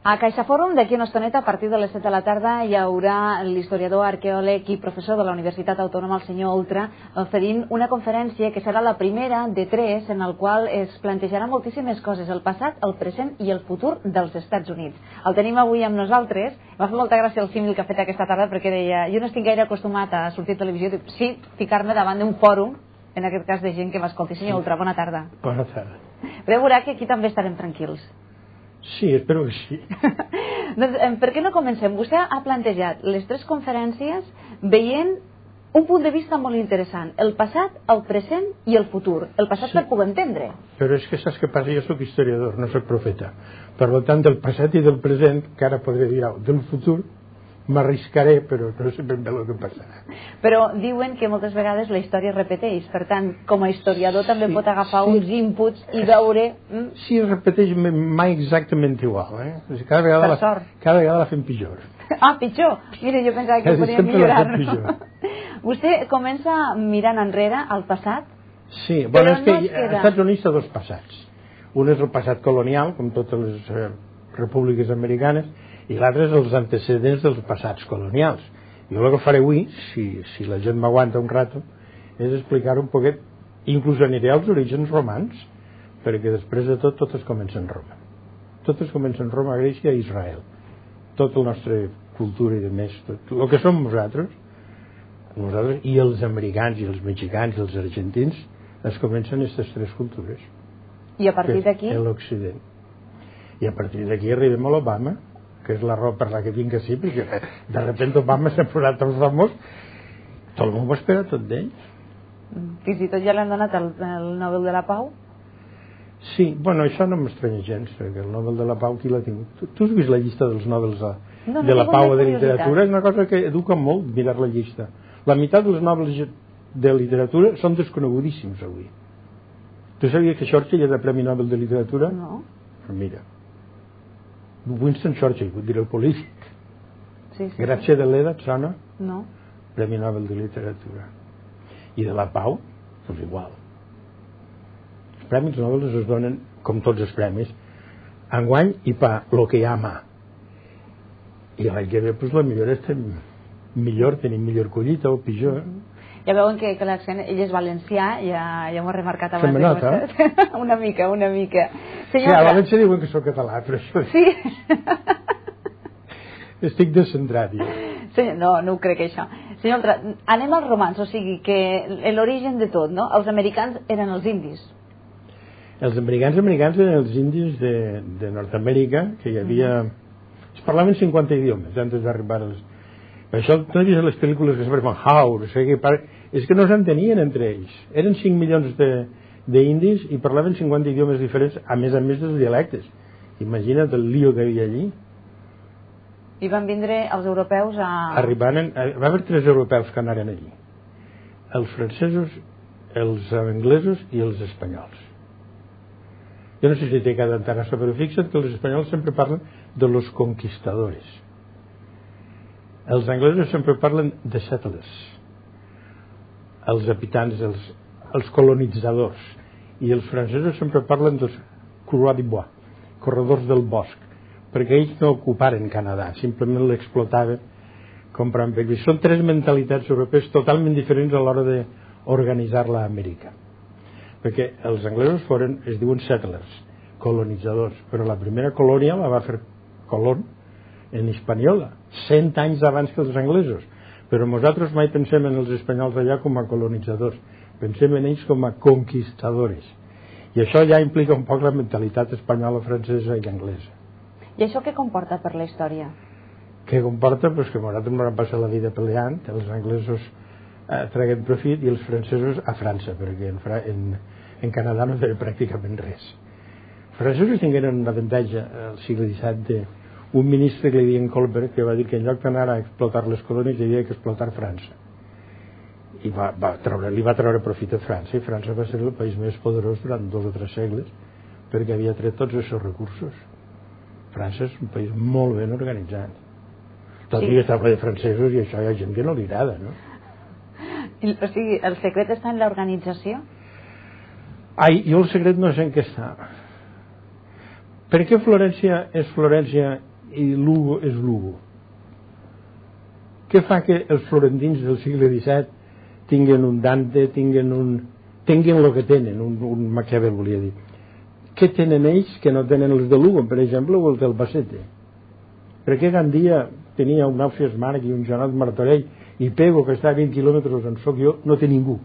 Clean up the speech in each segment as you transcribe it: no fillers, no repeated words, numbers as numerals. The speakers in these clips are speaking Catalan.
A CaixaForum, d'aquí una estoneta, a partir de les 7 de la tarda, hi haurà l'historiador, arqueòleg i professor de la Universitat Autònoma, el senyor Oltra, oferint una conferència que serà la primera de 3, en el qual es plantejarà moltíssimes coses, el passat, el present i el futur dels Estats Units. El tenim avui amb nosaltres. M'ha fet molta gràcia el símil que ha fet aquesta tarda, perquè deia, jo no estic gaire acostumat a sortir a televisió, dic, sí, ficar-me davant d'un fòrum, en aquest cas de gent que m'escolti. Senyor Oltra, bona tarda. Bona tarda. Però veurà que aquí també estarem tranquils. Sí, espero que sí. Doncs, per què no comencem? Vostè ha plantejat les 3 conferències veient un punt de vista molt interessant, el passat, el present i el futur. El passat per poder entendre. Però és que saps què passa? Jo soc historiador, no soc profeta. Per tant, del passat i del present, que ara podré dir del futur, m'arriscaré, però no sé ben bé el que passarà. Però diuen que moltes vegades la història es repeteix, per tant, com a historiador també pot agafar uns inputs i veure... Sí, es repeteix mai exactament igual, eh? Cada vegada la fem pitjor. Ah, pitjor? Mira, jo pensava que podríem millorar. Vostè comença mirant enrere al passat? Sí, bueno, és que als Estats Units hi ha 2 passats. Un és el passat colonial, com totes les repúbliques americanes, i l'altre és els antecedents dels passats colonials. Jo el que faré avui, si la gent m'aguanta un rato, és explicar un poquet, inclús aniré als orígens romans, perquè després de tot es comença en Roma. Tot es comença en Roma, Grècia i Israel. Tota la nostra cultura i de més, el que som nosaltres i els americans i els mexicans i els argentins, es comencen aquestes 3 cultures. I a partir d'aquí? L'Occident. I a partir d'aquí arribem a l'Obama, que és la raó per la que vinc així, perquè de repente Obama s'ha posat tan famós, tot el món ho espera tot d'ells. Fins i tot ja l'han donat el Nobel de la Pau? Sí, bueno, això no m'estranya gens, perquè el Nobel de la Pau qui l'ha tingut? Tu has vist la llista dels Nobels de la Pau o de literatura? És una cosa que educa molt mirar la llista. La meitat dels Nobels de literatura són desconegudíssims avui. Tu sabies que Churchill és el Premi Nobel de Literatura? No. Mira, Winston Churchill, vull dir el polític. Sí. Gràcia de l'Eda, et sona? No. Premi Nobel de Literatura. I de la Pau, doncs igual. Els premis Nobel es donen, com tots els premis, enguany i pa lo que hi ha a mà. I l'any que ve, doncs, la millor estem millor, tenim millor collita o pitjor. Ja veuen que l'accent, ell és valencià, ja m'ho ha remarcat abans. Se me nota? Una mica. Sí, a València diuen que soc català, però això... Sí? Estic descentrat, jo. No ho crec, això. Senyor Oltra, anem als romans, o sigui que l'origen de tot, no? Els americans eren els indis. Els americans eren els indis de Nord-Amèrica, que hi havia... Es parlaven 50 idiomes antes d'arribar als... Per això no he vist les pel·lícules que sempre fan House, és que no s'entenien entre ells. Eren 5 milions d'indis i parlaven 50 idiomes diferents, a més dels dialectes. Imagina't el lío que hi havia allí. I van vindre els europeus a... Va haver 3 europeus que anaren allí. Els francesos, els anglesos i els espanyols. Jo no sé si té cada entera, però fixa't que els espanyols sempre parlen de los conquistadores. Els anglesos sempre parlen de settlers, els habitants, els colonitzadors, i els francesos sempre parlen dels coureurs du bois, corredors del bosc, perquè ells no ocuparen Canadà, simplement l'explotaven comprant pelvis. Són 3 mentalitats europees totalment diferents a l'hora d'organitzar-la a Amèrica, perquè els anglesos es diuen settlers, colonitzadors, però la primera colònia la va fer Colón en Hispaniola, 100 anys abans que els anglesos, però nosaltres mai pensem en els espanyols allà com a colonitzadors, pensem en ells com a conquistadores, i això ja implica un poc la mentalitat espanyola, francesa i anglesa. I això què comporta per la història? Què comporta? Pues que nosaltres ens vam passar la vida peleant, els anglesos traguem profit i els francesos a França, perquè en Canadà no feien pràcticament res. Els francesos tingueren un avantatge al segle XVII un ministre que li deien Colbert, que va dir que en lloc d'anar a explotar les colònies hi havia que explotar França, i li va treure profit a França, i França va ser el país més poderós durant 2 o 3 segles perquè havia tret tots els seus recursos. França és un país molt ben organitzat, tot i que està ple de francesos, i això hi ha gent que no li agrada, no? O sigui, el secret està en l'organització? Jo el secret no sé en què està. Per què Florència és Florència i Lugo és Lugo. Què fa que els florentins del segle XVII tinguen un Dante, tinguin el que tenen, un Maquiavel, volia dir? Què tenen ells que no tenen els de Lugo, per exemple, o els del Albacete? Per què Gandia tenia un Ausiàs Marc i un Joanot Martorell i Pego, que està a 20 quilòmetres on soc jo, no té ningú?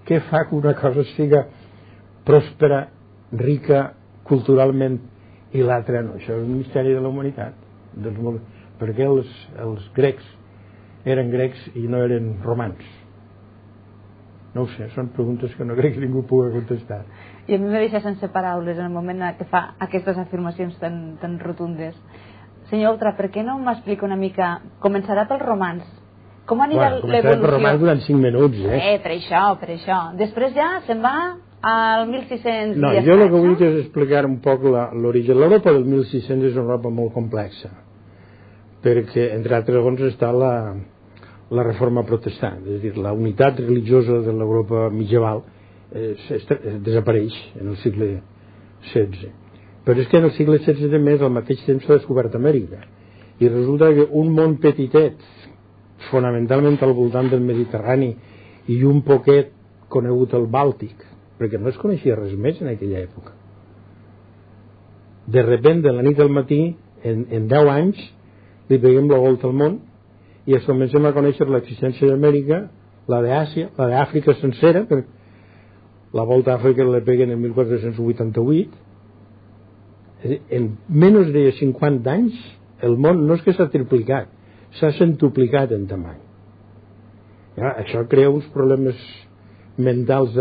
Què fa que una cosa siga pròspera, rica, culturalment, i l'altra no? Això és un misteri de la humanitat. Perquè els grecs eren grecs i no eren romans? No ho sé, són preguntes que no crec que ningú pugui contestar. I a mi me deixa sense paraules en el moment que fa aquestes afirmacions tan rotundes. Senyor Oltra, per què no m'explica una mica? Començarà pels romans. Com anirà l'evolució? Començarà pels romans durant 5 minuts, Per això. Després ja se'n va al 1600. No, jo el que vull és explicar un poc l'origen. L'Europa del 1600 és una Europa molt complexa, perquè, entre altres raons, està la reforma protestant, és a dir, la unitat religiosa de l'Europa medieval desapareix en el segle XVI. Però és que en el segle XVI també al mateix temps s'ha descobert Amèrica, i resulta que un món petitet, fonamentalment al voltant del Mediterrani i un poquet conegut al Bàltic, perquè no es coneixia res més en aquella època, de sobte, de la nit al matí, en 10 anys li peguem la volta al món i es comencem a conèixer l'existència d'Amèrica, la d'Àsia, la d'Àfrica sencera, perquè la volta a Àfrica la peguen en 1488. En menys de 50 anys el món no és que s'ha triplicat, s'ha centuplicat en tamany. Això crea uns problemes mentals